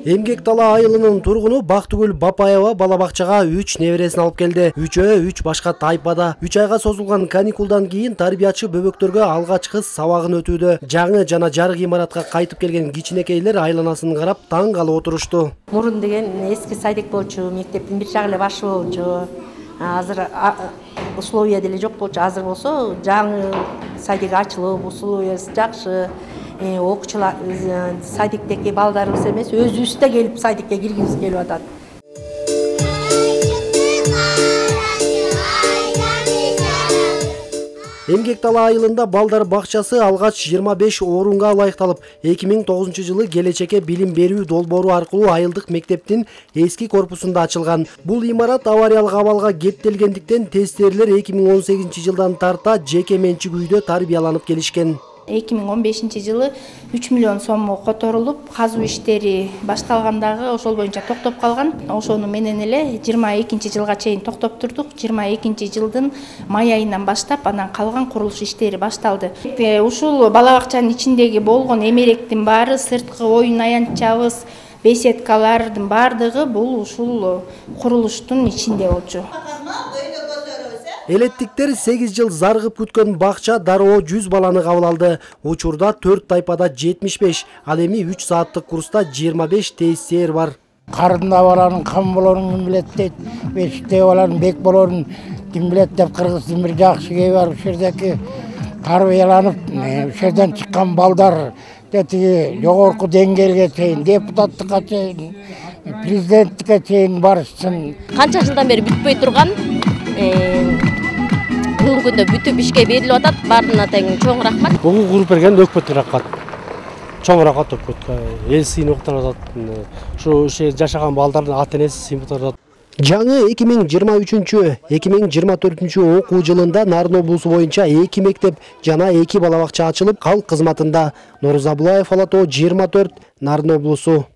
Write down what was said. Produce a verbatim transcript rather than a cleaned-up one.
Эмгек Дала айылынын тургуну Бактыгүл Бапаева бала бакчага үч небересин алып келди. Үчөө үч башка тайпада. үч айга созулган каникулдан кийин тарбиячы бөбөктөргө алгачкы сабагын өтүүдө. Жаңы жана жарык имаратка кайтып келген кичинекейлер айланасын карап таң калып отурушту. Мурун деген эски садик болчу, мектептин бир жагы эле башы болчу. Азыр условия деле жок болчу. Азыр болсо жаңы садик ачылып, условиясы жакшы. Окуучулар садиктеги балдарыбыз эмес, өзүбүз да келип садикке киргибиз келип атат. Эмгек Дала айылында балдар бакчасы алгач жыйырма беш орунга ылайыкталып, эки миң тогузунчу жылы келечекке билим берүү долбоору аркылуу айылдык мектептин эски корпусунда ачылган. Бул имарат авариялык абалга кептелгендиктен тестерлер эки миң он сегизинчи жылдан тарта жеке менчик үйдө тарбияланып келишкен. эки миң он бешинчи жылы үч миллион сомго которулуп, казуу иштери башталгандагы ошол боюнча токтоп калган. Ошону менен эле жыйырма экинчи жылга чейин токтоп турдук. жыйырма экинчи жылдын май айынан баштап анан калган курулуш иштери башталды. Ушул бала бакчанын ичиндеги болгон эмеректин баары, сырткы оюн аянтчабыз, беседкалардын баардыгы бул ушул курулуштун ичинде болчу. Элеттиктер сегиз жыл зарыгып күткөн бакча дароо жүз баланы кабыл алды. Учурда төрт тайпада жетимиш беш, ал эми үч сааттык курста жыйырма беш тестер бар. Карында баланын кам болорун ким билет дейт, бешикте баланын бек болорун ким билет деп кыргыздын бир жакшы кеби бар. Ушул жердеги тарбияланып, ушул жерден чыккан балдар тиги жогорку деңгээлге чейин, депутаттыкка чейин, президенттикке чейин барышсын. Канча жылдан бери бүтпөй турган бүгүнкү күндө бүтүп ишке берилип атат. Баарына тең чоң рахмат. Бугу куруп берген өкмөткө рахмат. Чоң рахмат өкмөткө. Эл сыйынып атат. Ушу жашаган балдардын ата энеси сыйынып атат. Жаңы эки миң жыйырма үчүнчү — эки миң жыйырма төртүнчү окуу жылында Нарын облусу боюнча эки мектеп жана эки бала бакча ачылып, калк кызматында. Нуруза Булаев, Ала тоо жыйырма төрт, Нарын облусу.